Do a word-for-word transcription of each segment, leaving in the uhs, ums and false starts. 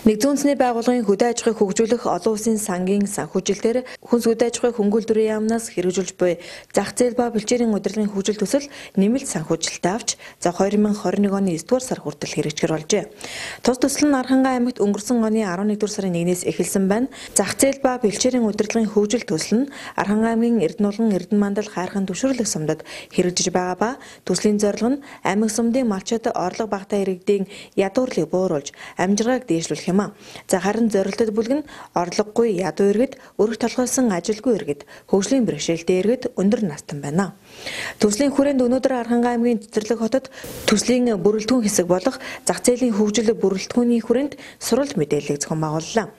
Нэгдсэн үндэсний байгууллагын хөдөө аж ахуйг хөгжүүлэх олон улсын сангийн санхүүжилтээр хүнс хөдөө аж ахуйг хөнгөлөлтөрийн яамнаас хэрэгжүүлж буй зах зээл ба бэлчээрийн удирдлагын хөгжил төсөл нэмэлт санхүүжилттэй авч за хоёр мянга хорин нэг оны эсдүгээр сар хүртэл хэрэгжихэр болжээ. Тус төсөл нь Архангай аймагт өнгөрсөн оны арван нэгдүгээр сарын нэгнээс эхэлсэн байна. Зах зээл ба бэлчээрийн удирдлагын хөгжил төсөл нь Архангай аймгийн Эрдэнэбулган, Эрдэнэмандал, Хайрхан түвширлэх сумдад хэрэгжиж байгаа ба төслийн зорилго нь аймаг сумдын малчид орлого багтаа иргэдийн ядуурлыг бууруулж амжиргааг дээшлүүлэх. За харин зорилтод бүлэг нь орлогогүй ядуу иргэд, өрх толгойсон ажилгүй иргэд, хөгжлийн бэрхшээлтэй иргэд өндөр настан байна. Төслийн хүрээнд өнөөдөр Архангай аймгийн Цэцэрлэг хотод төслийн бүрэлдэхүүн хэсэг болох зах зээлийн хөгжил бүрэлдэхүүний хүрээнд сурвалж мэдээллийг зохион байгууллаа.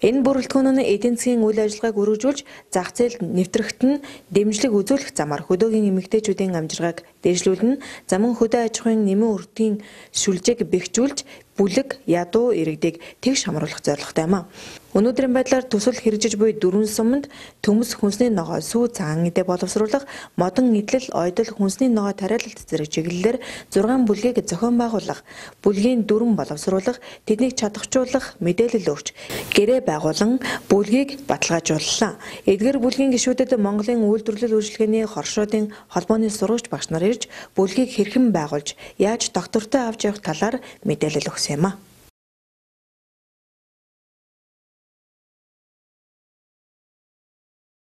Энэ бүрэлдэхүүн нь эдийн засгийн үйл ажиллагааг өргөжүүлж зах зээл нэвтрэгт нь дэмжлэг үзүүлэх замаар хөдөөгийн эмэгтэйчүүдийн амжиргааг дээшлүүлнэ. Замун хөдөө аж ахуйн нэмэн өртгийн шүлжээг бэхжүүлж бүлэг ядуу иргэдийг тэгш хамруулах зорилготой юм а. Өнөөдрийн байдлаар төсөл хэрэгжиж буй дөрвөн суманд төмс хүнсний ногоо, сүү цагаан эдээ боловсруулах, модон эдлэл, ойдол хүнсний ногоо тариалалт зэрэг чиглэлээр зургаан бүлгийг зохион байгуулах, бүлгийн дүрэн боловсруулах, тэднийг чадахжуулах, мэдээлэл өгч, гэрээ байгуулан бүлгийг баталгаажууллаа. Эдгээр бүлгийн гишүүдэд Монголын үйлдвэрлэл үйлчилгээний хоршоодын холбооны сурвалж багш нар ирж бүлгийг хэрхэн байгуулж, яаж доктортой авч явах талаар мэдээлэл өгсөн юм а.